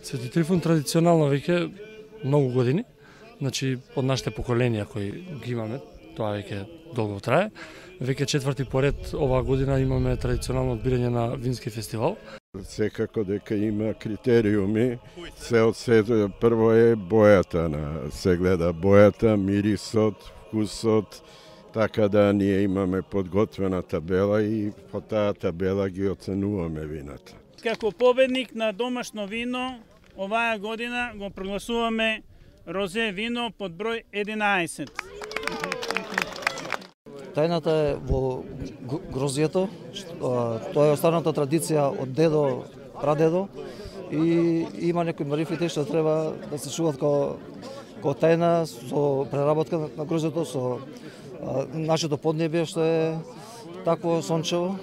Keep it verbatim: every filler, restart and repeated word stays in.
Свети Трифун традиционално веќе многу години, значи од нашите поколенија кои ги имаме, тоа веќе долго трае. Веќе четврти поред оваа година имаме традиционално одбирање на вински фестивал. Секако дека има критериуми, се од се прво е бојата, на се гледа бојата, мирисот, вкусот, така да ние имаме подготвена табела и по таа табела ги оценуваме вината. Како победник на домашно вино, оваа година го прогласуваме розе вино под број единаесет. Тајната е во грозјето, тоа е останата традиција од дедо, прадедо и има некои марифити што треба да се чуваат како ко тајна со преработка на грозјето, со нашето поднебје што е такво сончево.